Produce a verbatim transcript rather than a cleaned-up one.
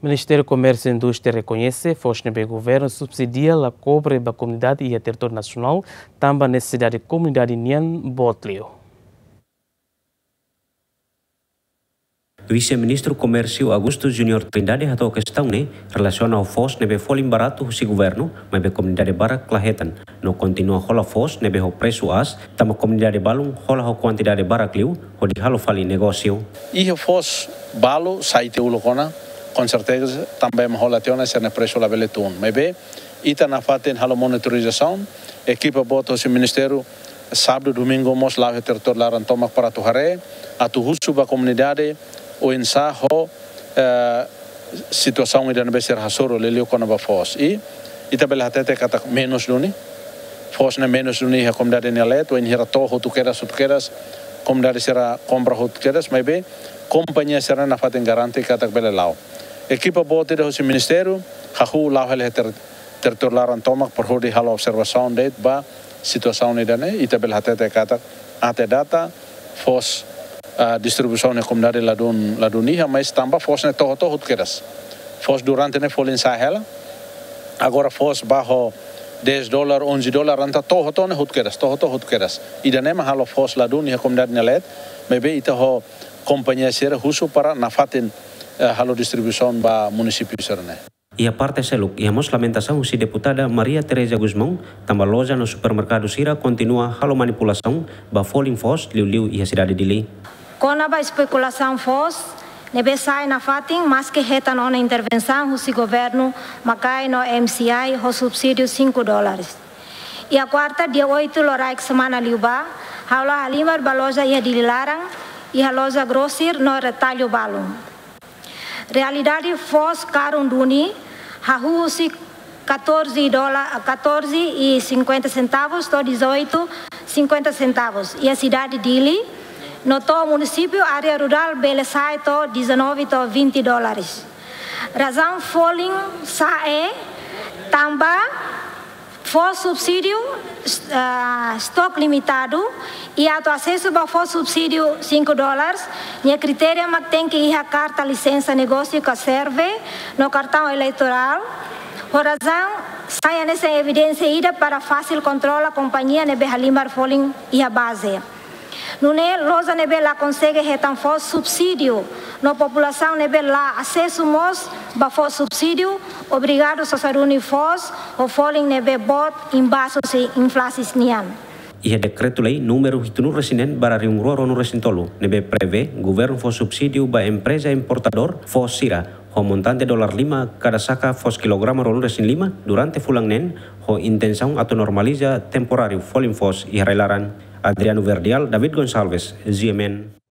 Ministériu Komérsiu i Indústria rekoñese foos ne'ebé governu subsidia la kobre ba komunidade iha territóriu nasionál, tanba nesesidade komunidade nian boot liu. Vise-Ministru Komérsiu Augusto Junior Trindade hato'o kestaun ne'e relasiona ho foos ne'ebé folin baratu husi governu, maibé komunidade barak la hetan, no kontinua hola foos ne'ebé ho presu aas, tanba komunidade balun hola ho kuantidade barak liu, hodi halo fali negósiu. Iha foos balu sai tiha uluk ona, konserteza tanba ema hola tiha ona sira-nia presu labele tun. Maibé, ita nafatin halo monitorizasaun, ekipa boot husi ministériu, sábadu, domingu mós la'o iha territóriu laran tomak para atu haree, atu husu ba komunidade, oinsá ho, eh, situasaun ida ne'ebé sira hasoru liuliu kona-ba foos. I ita bele hatete katak menus duni. Foos ne'e menus duni iha komunidade nia leet, wainhira to'o hotu kedas, hotu kedas, komunidade sira kompra hotu kedas, maibé kompañia sira nafatin garante katak bele la'o. Ekipa boot ida husi ministériu, hahú la'o hela iha ter-, territóriu laran tomak para hodi halo observasaun de'it ba situasaun ida-ne'e, ita bele hatete katak até data, foos, ah, distribuisaun iha komunidade ladún, ladún iha, mas tanba foos ne'e to'o, to'o hotu kedas. Foos durante ne'e folin sa'e hela. Agora foos ba ho dez dólar, onze dólar, entaun to'o, to'o ne'e hotu kedas, to'o, to'o hotu kedas. Ida-ne'e mak halo foos ladún iha komunidade nia leet, maibé ita ho kompañia sira husu para nafatin, eh, halo distribuisaun ba munisípiu sira-ne'e. Iha parte seluk, iha mós lamentasaun husi Deputada Maria Teresa Gusmão, tanba loja no supermerkadu sira kontinua halo manipulasaun ba folin foos liuliu iha sidade Dili. Kona-ba espekulasaun foos ne'ebé sai nafatin, maske hetan ona intervensaun husi governu, MACAE no MCI ho subsídiu cinco dólares. Iha kuarta, dia oito, loraik semana liubá, ha'u la halimar ba loja iha Dili laran, iha loja grosir no retallu balun. Realidade foos karun duni, hahú husi catorze dólar, catorze e cinquenta centavos to'o dezoito cinquenta centavos iha sidade Dili, no to'o munisípiu área rurál bele sa'e to'o dezanove to'o vinte dólares. Razaun folin sa'e tanba foos subsídiu, ah, estoque limitadu, i atu asesu ba foos subsídiu cinco dólares, nia kritériu mak tenke iha karta lisensa negósiu ka serve no kartaun eleitorál. Ho razaun sa'e hanesan evidénsia ida para fasil kontrola kompañia ne'ebé halimar folin iha baze. Nune'e loja ne'ebé la konsege hetan foos subsídiu, no populasaun ne'ebé la asesu mós ba foos subsídiu, obrigadu sosa duni foos ho folin ne'ebé boot imbas husi inflasaun nian. Iha dekretu-lei númeru hitunulu-resin-neen barra rihun rua ruanulu-resin-tolu, ne'ebé prevee governu fó subsídiu ba empreza importadór foos sira, ho montante dólar lima kada saka foos kilograma ruanulu-resin-lima durante fulan neen, ho intensaun atu normaliza temporáriu folin foos iha rai-laran. Adriano Verdial, David Gonçalves, G M N.